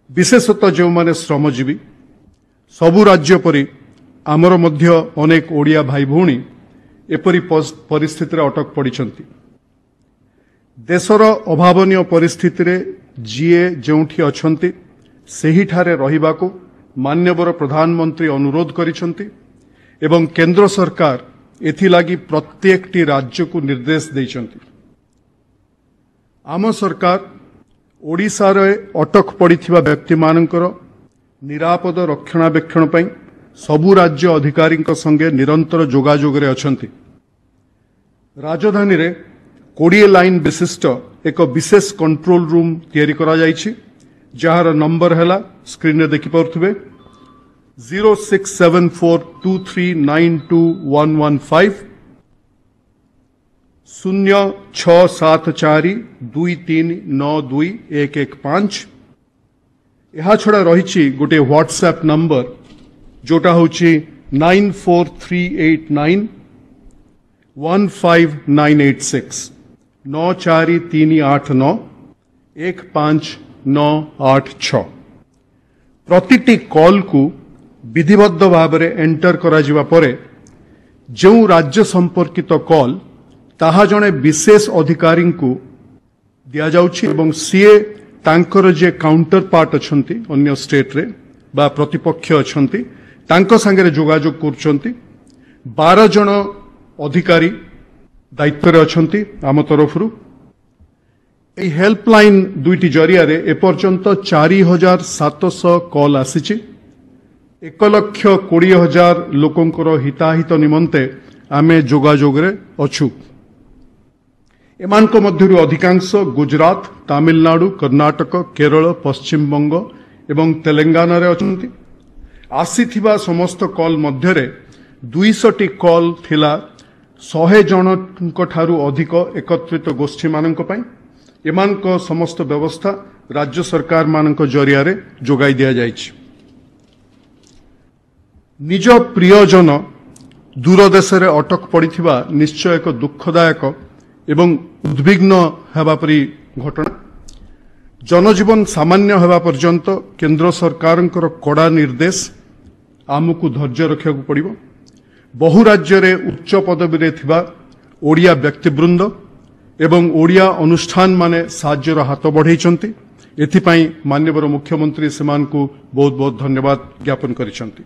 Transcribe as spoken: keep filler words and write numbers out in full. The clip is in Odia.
ବିଶେଷତଃ ଯେଉଁମାନେ ଶ୍ରମଜୀବୀ। ସବୁ ରାଜ୍ୟ ପରି ଆମର ମଧ୍ୟ ଅନେକ ଓଡ଼ିଆ ଭାଇ ଭଉଣୀ ଏପରି ପରିସ୍ଥିତିରେ ଅଟକ ପଡ଼ିଛନ୍ତି। ଦେଶର ଅଭାବନୀୟ ପରିସ୍ଥିତିରେ ଯିଏ ଯେଉଁଠି ଅଛନ୍ତି ସେହିଠାରେ ରହିବାକୁ ମାନ୍ୟବର ପ୍ରଧାନମନ୍ତ୍ରୀ ଅନୁରୋଧ କରିଛନ୍ତି ଏବଂ କେନ୍ଦ୍ର ସରକାର ଏଥିଲାଗି ପ୍ରତ୍ୟେକଟି ରାଜ୍ୟକୁ ନିର୍ଦ୍ଦେଶ ଦେଇଛନ୍ତି। ଆମ ସରକାର ଓଡ଼ିଶାରେ ଅଟକ ପଡ଼ିଥିବା ବ୍ୟକ୍ତିମାନଙ୍କର ନିରାପଦ ରକ୍ଷଣାବେକ୍ଷଣ ପାଇଁ ସବୁ ରାଜ୍ୟ ଅଧିକାରୀଙ୍କ ସଙ୍ଗେ ନିରନ୍ତର ଯୋଗାଯୋଗରେ ଅଛନ୍ତି। ରାଜଧାନୀରେ କୋଡ଼ିଏ ଲାଇନ୍ ବିଶିଷ୍ଟ ଏକ ବିଶେଷ କଣ୍ଟ୍ରୋଲ ରୁମ୍ ତିଆରି କରାଯାଇଛି, ଯାହାର ନମ୍ବର ହେଲା, ସ୍କ୍ରିନ୍ରେ ଦେଖିପାରୁଥିବେ, zero six seven four two three nine two one one five, ଶୂନ୍ୟ ଛଅ ସାତ ଚାରି ଦୁଇ ତିନି ନଅ ଦୁଇ ଏକ ଏକ ପାଞ୍ଚ। ଏହାଛଡ଼ା ରହିଛି ଗୋଟିଏ ହ୍ୱାଟ୍ସଆପ୍ ନମ୍ବର, ଯୋଉଟା ହେଉଛି nine four three eight nine one five nine eight six, ନଅ ଚାରି ତିନି ଆଠ ନଅ ଏକ ପାଞ୍ଚ ନଅ ଆଠ ଛଅ। ପ୍ରତିଟି କଲ୍କୁ ବିଧିବଦ୍ଧ ଭାବରେ ଏଣ୍ଟର କରାଯିବା ପରେ ଯେଉଁ ରାଜ୍ୟ ସମ୍ପର୍କିତ କଲ୍ ତାହା ଜଣେ ବିଶେଷ ଅଧିକାରୀଙ୍କୁ ଦିଆଯାଉଛି ଏବଂ ସିଏ ତାଙ୍କର ଯିଏ କାଉଣ୍ଟର ପାର୍ଟ ଅଛନ୍ତି ଅନ୍ୟ ଷ୍ଟେଟ୍ରେ ବା ପ୍ରତିପକ୍ଷ ଅଛନ୍ତି ତାଙ୍କ ସାଙ୍ଗରେ ଯୋଗାଯୋଗ କରୁଛନ୍ତି। ବାର ଜଣ ଅଧିକାରୀ ଦାୟିତ୍ୱରେ ଅଛନ୍ତି ଆମ ତରଫରୁ। ଏହି ହେଲ୍ପଲାଇନ୍ ଦୁଇଟି ଜରିଆରେ ଏପର୍ଯ୍ୟନ୍ତ ଚାରି ହଜାର ସାତଶହ କଲ୍ ଆସିଛି। ଏକ ଲକ୍ଷ କୋଡ଼ିଏ ହଜାର ଲୋକଙ୍କର ହିତାହିତ ନିମନ୍ତେ ଆମେ ଯୋଗାଯୋଗରେ ଅଛୁ। ଏମାନଙ୍କ ମଧ୍ୟରୁ ଅଧିକାଂଶ ଗୁଜରାଟ, ତାମିଲନାଡୁ, କର୍ଣ୍ଣାଟକ, କେରଳ, ପଶ୍ଚିମବଙ୍ଗ ଏବଂ ତେଲେଙ୍ଗାନାରେ ଅଛନ୍ତି। ଆସିଥିବା ସମସ୍ତ କଲ୍ ମଧ୍ୟରେ ଦୁଇଶହଟି କଲ୍ ଥିଲା ଶହେ ଜଣଙ୍କ ଠାରୁ ଅଧିକ ଏକତ୍ରିତ ଗୋଷ୍ଠୀମାନଙ୍କ ପାଇଁ। ଏମାନଙ୍କ ସମସ୍ତ ବ୍ୟବସ୍ଥା ରାଜ୍ୟ ସରକାରମାନଙ୍କ ଜରିଆରେ ଯୋଗାଇ ଦିଆଯାଇଛି। ନିଜ ପ୍ରିୟଜନ ଦୂର ଦେଶରେ ଅଟକ ପଡ଼ିଥିବା ନିଶ୍ଚୟ ଏକ ଦୁଃଖଦାୟକ ଏବଂ ଉଦ୍ବିଗ୍ନ ହେବା ପରି ଘଟଣା। ଜନଜୀବନ ସାମାନ୍ୟ ହେବା ପର୍ଯ୍ୟନ୍ତ କେନ୍ଦ୍ର ସରକାରଙ୍କର କଡ଼ା ନିର୍ଦ୍ଦେଶ, ଆମକୁ ଧୈର୍ଯ୍ୟ ରଖିବାକୁ ପଡ଼ିବ। ବହୁ ରାଜ୍ୟରେ ଉଚ୍ଚ ପଦବୀରେ ଥିବା ଓଡ଼ିଆ ବ୍ୟକ୍ତିବୃନ୍ଦ ଏବଂ ଓଡ଼ିଆ ଅନୁଷ୍ଠାନମାନେ ସାହାଯ୍ୟର ହାତ ବଢ଼େଇଛନ୍ତି। ଏଥିପାଇଁ ମାନ୍ୟବର ମୁଖ୍ୟମନ୍ତ୍ରୀ ସେମାନଙ୍କୁ ବହୁତ ବହୁତ ଧନ୍ୟବାଦ ଜ୍ଞାପନ କରିଛନ୍ତି।